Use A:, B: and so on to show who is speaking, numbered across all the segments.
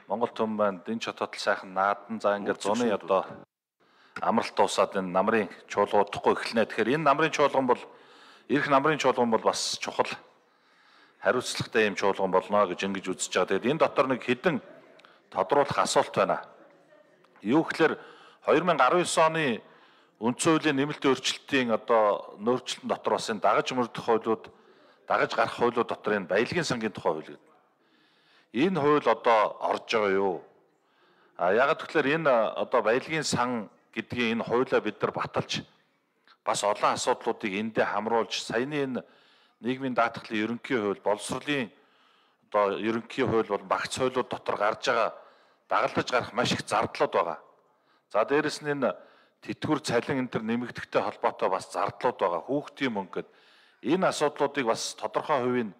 A: Монгол төм маань дэн чототол сайхан наадан за ингээд зуны одоо амралт дуусаад энэ намрын чуулга удахгүй эхэлнэ. Тэгэхээр энэ намрын чуулган бол ирэх намрын чуулган бол бас чухал хариуцлагатай юм чуулган болно гэж ингэж үзэж байгаа. Тэгээд энэ дотор нэг хэдэн тодруулах асуулт байна. Юу гэхээр 2019 оны үндсэн хуулийн нэмэлт өөрчлөлтийн одоо нөөцлөлтөн дотор бас энэ дагаж мөрдөх хуулиуд, дагаж гарах хуулиуд дотор энэ баялагын сангийн тухай хууль гэдэг. Энэ хууль одоо орж байгаа юу? Яагаад гэвэл энэ одоо баялагын сан гэдгийн энэ хуулиа бид нар баталж бас олон асуудлуудыг эндээ хамруулж саяны энэ нийгмийн даатгалын ерөнхий хууль, боловсролын одоо ерөнхий хууль бол багц хуулиуд дотор гарч байгаа дагалдаж гарах маш их зардлууд байгаа. За дээрэс нь энэ тэтгэвэр цалин энэ төр нэмэгдэхтэй холбоотой бас зардлууд байгаа. Хүүхдийн мөнгө гэд энэ асуудлуудыг бас тодорхой хувийн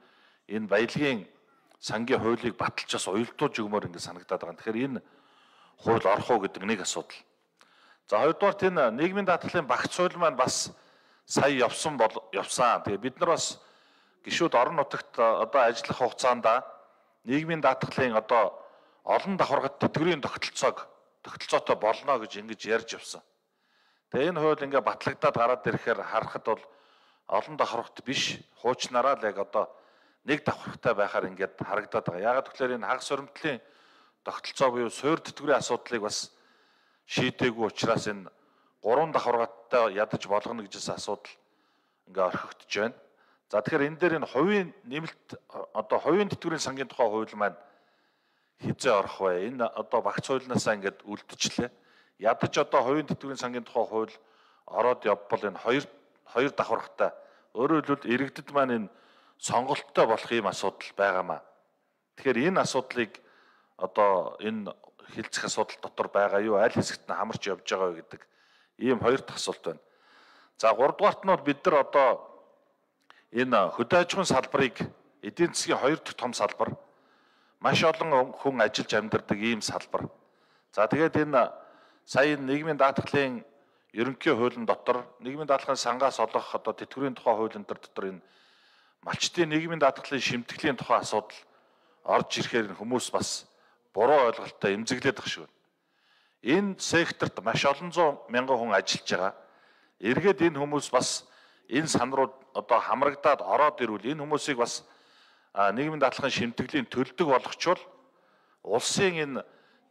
A: энэ баялагын сангийн хуулийг баталж бас уялдуулж өгмөр ингэ санагдаад байгаа. Тэгэхээр энэ хууль орох уу гэдэг нэг асуудал. За хоёрдугаар энэ нийгмийн даатгалын багц хууль маань бас сая явсан. Тэгээ бид нар бас гишүүд орон нутагт одоо ажиллах хугацаанд нийгмийн даатгалын одоо олон давхаргад тэтгэврийн тогтолцоотой болно гэж ингэж ярьж явсан. Тэгээ энэ хууль ингээ батлагдаад гараад ирэхээр харахад бол олон давхаргад биш хуучнараа л яг одоо нэг давхаргатай байхаар ингээд харагдаад байгаа. Яагаад гэвэл энэ хагас хуримтлалын тогтолцоо буюу суур тэтгэврийн асуудлыг бас шийдээгүй учраас энэ 3 давхаргаттай ядаж болгоно гэжсэн асуудал ингээ орхигдож байна. За тэгэхээр энэ дээр энэ хувийн нэмэлт одоо хувийн тэтгэврийн сангийн тухай хууль маань хизээ орох вэ? Энэ одоо багц хуулинаасаа ингээд үлдчихлээ. Ядаж одоо хувийн тэтгэврийн сангийн тухай хууль ороод явбал энэ хоёр давхаргатай. Өөрөөр хэлбэл иргэдэд маань энэ сонголттой болох юм асуудал байгаамаа. Тэгэхээр энэ асуудлыг одоо энэ хилцэх асуудал дотор байгаа юу? Аль хэсэгт нь хамарч явж байгаа вэ гэдэг ийм хоёр дахь асуулт байна. За гуравдугаарт нь бол бид нар одоо энэ хөдөө аж ахуйн салбарыг эдийн засгийн хоёр дахь том салбар маш олон хүн ажиллаж амьдардаг ийм салбар. За тэгээд энэ сая нийгмийн даатгалын ерөнхий хуулийн дотор нийгмийн даатгалын сангаас олох одоо тэтгэврийн тухай хуулийн дотор энэ малчтын нийгмийн даатгалын шимтгэлийн тухай асуудал орж ирэхээр хүмүүс бас буруу ойлголттой эмзэглээд байгаа шүү. Энэ секторт маш олон зуун мянган хүн ажиллаж байгаа. Эргээд энэ хүмүүс бас энэ сан руу одоо хамрагдаад ороод ирвэл энэ хүмүүсийг бас нийгмийн даатгалын шимтгэлийн төлдөг болгочвол улсын энэ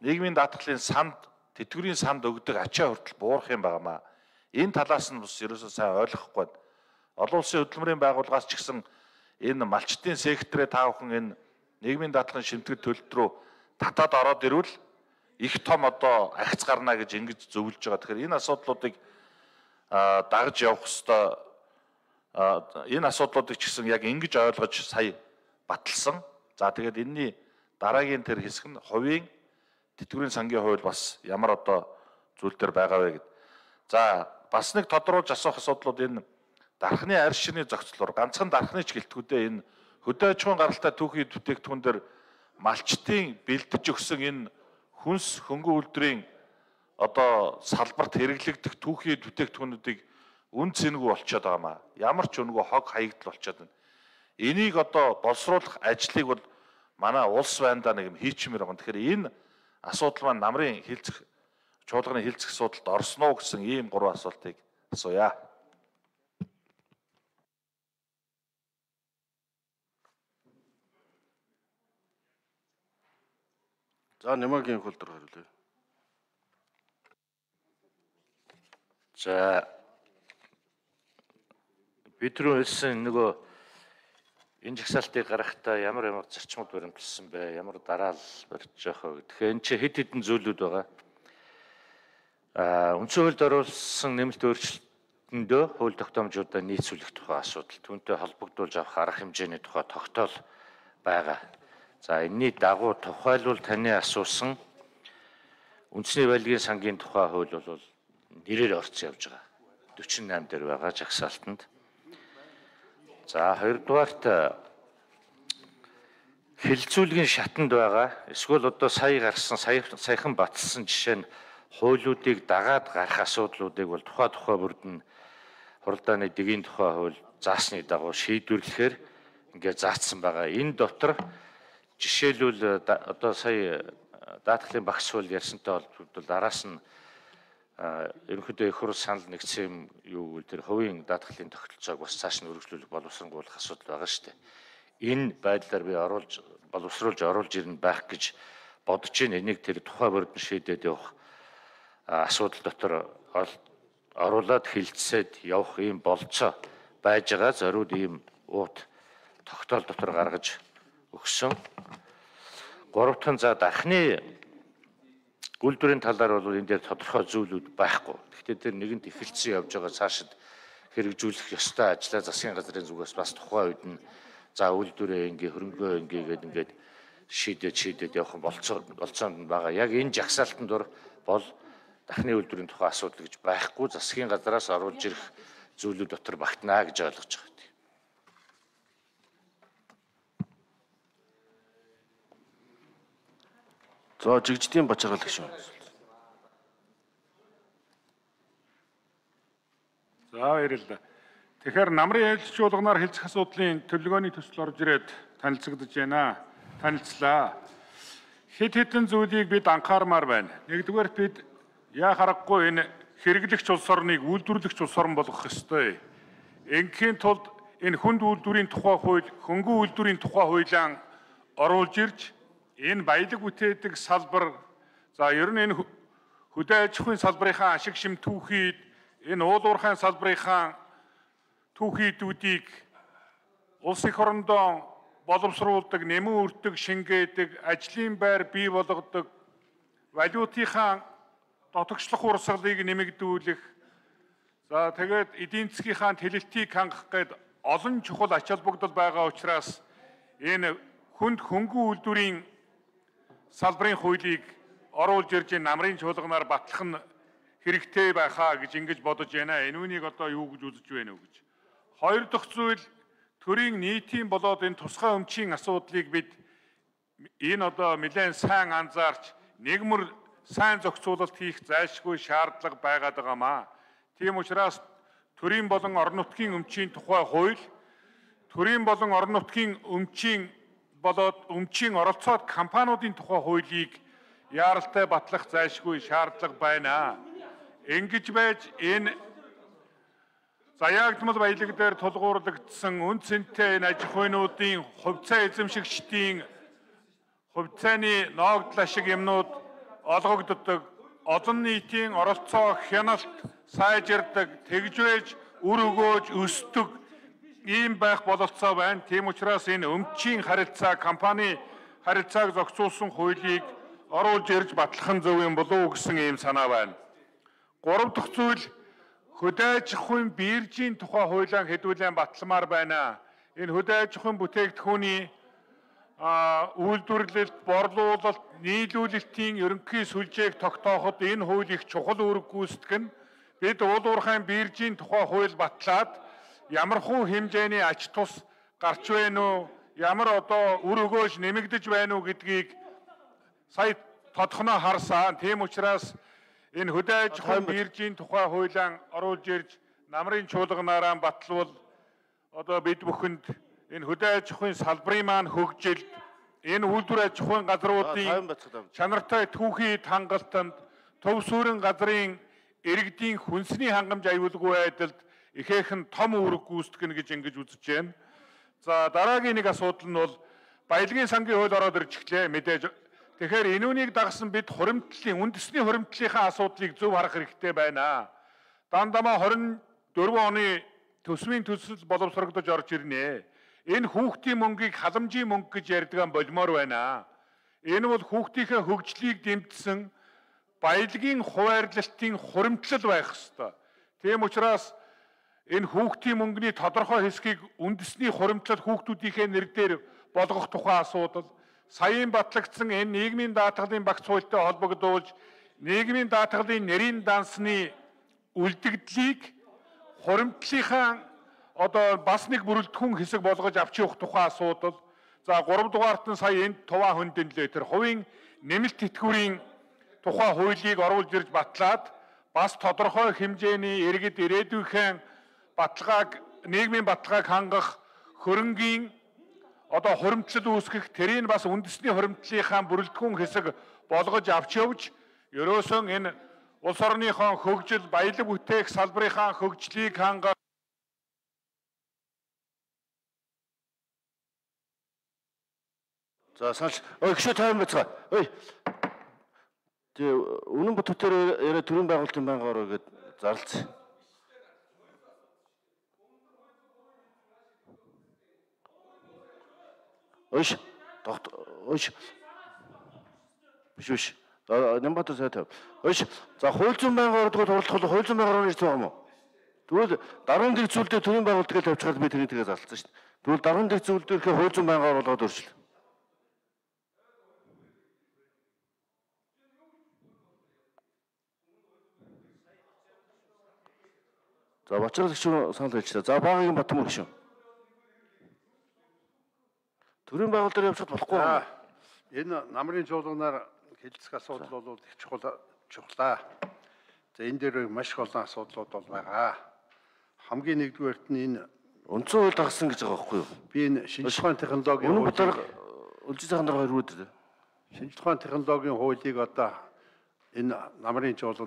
A: нийгмийн даатгалын санд тэтгэврийн санд өгдөг ачаа хүртэл буурах юм байнамаа. Энэ талаас нь бас ерөөсөө сайн ойлгохгүй байна. Олон улсын хөдөлмөрийн байгууллагаас ч гэсэн энэ малчтын секторээ та бүхэн энэ нийгмийн даатгалын шимтгэл төлөлт рүү татаад ороод ирвэл их том одоо ахиц гарна гэж ингэж зөвлөж байгаа. Тэгэхээр энэ асуудлуудыг дагаж явах ёстой. Энэ асуудлуудыг ч гэсэн яг ингэж ойлгож сая баталсан. За тэгээд энэний дараагийн тэр хэсэг нь хувийн тэтгэврийн сангийн хууль бас ямар одоо зүйл төр байгаа вэ гэд. За бас нэг тодруулж асуух асуудлууд энэ дархны арьс ширний зохицлоор ганцхан дархны ч гэлтгүүдээ энэ хөдөө аж ахуйн гаралтай түүхий бүтээгдэхүүн дээр малчтын бэлдэж өгсөн энэ хүнс хөнгөн үйлдвэрийн одоо салбарт хэрэглэгдэх түүхий бүтээгдэхүүнүүдийг үн цэнэгүй болчиход байгаамаа. Ямар ч үнэгүй хог хаягдл болчиход байна. Энийг одоо боловсруулах ажлыг бол манай улс байндаа нэг юм хийчмээр байгаа. Тэгэхээр энэ асуудал маань намрын хилцэх чуулганы хилцэх асуудалд орсон уу гэсэн ийм 3 асуултыг асууя.
B: За Нямаагийн хөлдөр хариулъя.
C: За бид түрүүлсэн нөгөө энэ жагсаалтыг гаргахтаа ямар зарчмууд баримталсан бэ? Ямар дараал барьж явах вэ? Тэгэхээр энэ чи хэд хэдэн зүйлүүд байгаа. Үндсэн хуульд оруулсан нэмэлт өөрчлөлтөндөө хууль тогтоомжуудаа нийцүүлэх тухай асуудал, түүнтэй холбогдуулж авах арга хэмжээний тухай тогтоол байгаа. За энэний дагуу тухайлбал таны асуусан үндэсний баялагын сангийн тухай хууль бол нэрээр орцсон явж байгаа. 48 дээр байгаа жагсаалтанд. За хоёрдугаарт хилцүүлгийн шатанд байгаа. Эсвэл одоо сая гарсан саяхан баталсан жишээ нь хуулиудыг дагаад гарах асуудлуудыг бол тухай бүрдэн хуралдааны дэгийн тухай хууль заасны дагуу шийдвэрлэхээр ингээд заасан байгаа. Энэ дотор жишээлбэл одоо сая даатгалын багш суул ярьсантай холбогдол араас нь ерөнхийдөө их хурл санал нэгдсэн юм юу гэвэл тэр хувийн даатгалын тогтолцоог бас цааш нь өргөжлүүлэх боловсронгуулах асуудал байгаа шүү дээ. Энэ байдлаар би боловсруулж оруулж ирнэ байх гэж бодож байна. Энийг тэр тухай бүрдэн шийдээд явах асуудал дотор оруулаад хилцээд явах ийм болцоо байж байгаа. Зориуд ийм уут тогтоол дотор гаргаж өгсөн. Гуравтхан за дахны үйлдвэрийн талаар бол энэ дээр тодорхой зүйлүүд байхгүй. Гэхдээ тэр нэгэнт эхэлсэн явж байгаа цаашид хэрэгжүүлэх ёстой ажлаа засгийн газрын зүгээс бас тухайн үед нь за үйлдвэрээ хөрөнгөө ингээд шийдээд явах болцоонд нь байгаа. Яг энэ жагсаалтанд бол дахны үйлдвэрийн тухай асуудал гэж байхгүй, засгийн газраас оруулж ирэх зүйлүүд дотор багтнаа гэж ойлгож байгаа.
B: За жигждийн бачаагаал гişүн.
D: За баярлалаа. Тэгэхээр намрын ээлж чуулганаар хэлцэх асуудлын төлөвлөгөөний төсөл орж ирээд танилцагдж байна. Танилцлаа. Хэд хэдэн зүйлийг бид анхаармаар байна. Нэгдүгээр бид яа харахгүй энэ хэрэглэгч улс орныг үйлдвэрлэгч улс орн болгох ёстой. Ингийн тулд энэ хүнд үйлдвэрийн тухай хууль, хөнгөн үйлдвэрийн тухай хуулиан оруулж ирж энэ баялаг бүтээдэг салбар за ер нь энэ хөдөө аж ахуйн салбарынхаа ашиг шим түүхийд энэ уул уурхайн салбарынхаа түүхийдүүдийг улс их орондоо боловсруулдаг, нэмэн үрдэг, шингээдэг, ажлын байр бий болгодог, валютынхаа дотогшлох урсгалыг нэмэгдүүлэх за тэгээд эдийн засгийнхаа тэлэлтийг хангах гээд олон чухал ач холбогдол байгаа учраас энэ хөнгөн үйлдвэрийн салбарын хуулийг оруулж ирж намрын чуулганаар батлах нь хэрэгтэй байхаа гэж ингэж бодож байна. Энэ үнийг одоо юу гэж үзэж байна вэ гэж. Хоёр дахь зүйл төрийн нийтийн болоод энэ тусгай өмчийн асуудлыг бид энэ одоо нэлээд сайн анзаарч нэгмэр сайн зохицуулалт хийх зайлшгүй шаардлага байгаад байгаамаа. Тийм учраас төрийн болон орон нутгийн өмчийн тухай хууль, төрийн болон орон нутгийн өмчийн оролцоод компаниудын тухай хуулийг яаралтай батлах зайлшгүй шаардлага байна. Ингэж байж энэ заяагдмал баялаг дээр тулгуурлагдсан үн цэнтэй энэ аж ахуйнуудын хувьцаа эзэмшигчдийн хувьцааны ноогдол ашиг юмнууд олгогддог, олон нийтийн оролцоо хяналт сайжирдаг, тэгж байж үр өгөөж өсдөг ийм байх бололцоо байна. Тийм учраас энэ өмчийн харилцаа, компани харилцааг зохицуулсан хуулийг оруулж ирж батлах нь зөв юм болов уу гэсэн ийм санаа байна. Гурав дахь зүйл хөдөө аж ахуйн биржийн тухай хуулиан хэдүүлэн батламаар байна. Энэ хөдөө аж ахуйн бүтээгдэхүүний үйлдвэрлэлт, борлуулалт, нийлүүлэлтийн ерөнхий сүлжээг тогтооход энэ хууль их чухал үүрэг гүйцэтгэх нь бид уул уурхайн биржийн тухай хууль батлаад ямар хуу хэмжээний ач тус гарч байна уу, ямар одоо үр өгөөж нэмэгдэж байна уу гэдгийг сая тодхоноо харсан. Тийм учраас энэ хөдөө аж ахуйн биржийн тухай хуулиан оруулж ирж намрын чуулганаараа батлвал одоо бид бүхэнд энэ хөдөө аж ахуйн салбарын маань хөгжилд энэ үйлдвэр аж ахуйн газруудын чанартай түүхий хангалтанд төв суурин газрын иргэдийн хүнсний хангамж аюулгүй байдалд ихээхэн том үүрэг гүйцэтгэнэ гэж ингэж үзэж байна. За дараагийн нэг асуудал нь бол баялагын сангийн хууль ороод ирж эхлэе мэдээж. Тэгэхээр энүүнийг дагсан бид хуримтлалын үндэсний хуримтлалынхаа асуудлыг зөв харах хэрэгтэй байна. Дандамаа 24 оны төсвийн төсөл боловсрогдож орж ирнэ. Энэ хүүхдийн мөнгийг халамжийн мөнгө гэж ярьдаг болмоор байна. Энэ бол хүүхдийнхээ хөгжлийг дэмжсэн баялагын хуваарлалтын хуримтлал байх ёстой. Тийм учраас энэ хүүхдийн мөнгөний тодорхой хэсгийг үндэсний хуримтлал хүүхдүүдийнхээ нэр дээр болгох тухай асуудал, саяын батлагдсан энэ нийгмийн даатгалын багц хуультай холбогдуулж нийгмийн даатгалын нэрийн дансны үлдэгдлийг хуримтлалынхаа одоо бас нэг бүрэлдэхүүн хэсэг болгож авч явах тухай асуудал. За 3 дугаарт нь сая энд туваа хөндөнлөө тэр хувийн нэмэлт тэтгэврийн тухай хуулийг оруулж ирж батлаад бас тодорхой хэмжээний иргэд ирээдүйнхэн баталгааг нийгмийн баталгааг хангах хөрөнгийн одоо хуримтлал үүсгэх, тэрийг бас үндэсний хуримтлалынхаа бүрэлдэхүүн хэсэг болгож авч явж, ерөөсөн энэ улс орныхон хөгжил, баялаг бүтээх салбарынхаа хөгжлийг хангах
B: За санал гişүү тайван байцгаа. Ой. Тэгээ үнэн бүтээр яриа төрийн байгуулалтын байнга ороо гэд зарлцсан. Ойш. Ойш. Биш. Нямбатар сайтай. Ойш. За хууль зүйн байнга ороод оролцох хууль зүйн байнга орооны хэсэг юм уу? Тэгвэл даруун дэх зүйлдээ төрийн байгуулалт гэж тавьчихад би тэрийг тэгээ зарлцсан шүү дээ. Тэгвэл даруун дэх зүйлдээ ирэхээр хууль зүйн байнга оруулаад өөрчлөө. За бачрал гişүү санал хэлчихлээ. За багийн Батмөр гişүү. Төрийн байгуулалтаар явчихад болохгүй байна.
E: Энэ намрын чуулганаар хэлцэх асуудал бол их чухлаа. За энэ дээр маш их олон асуудлууд бол байгаа. Хамгийн нэгдүгээрт нь энэ
B: Үндсэн хууль дагсан гэж байгаа байхгүй юу?
E: би энэ шинжлэх ухааны технологийн
B: Үнэн бодлоор үлжиж байгаа нар хоёр үүд.
E: шинжлэх ухааны технологийн хуулийг одоо энэ намрын чуулган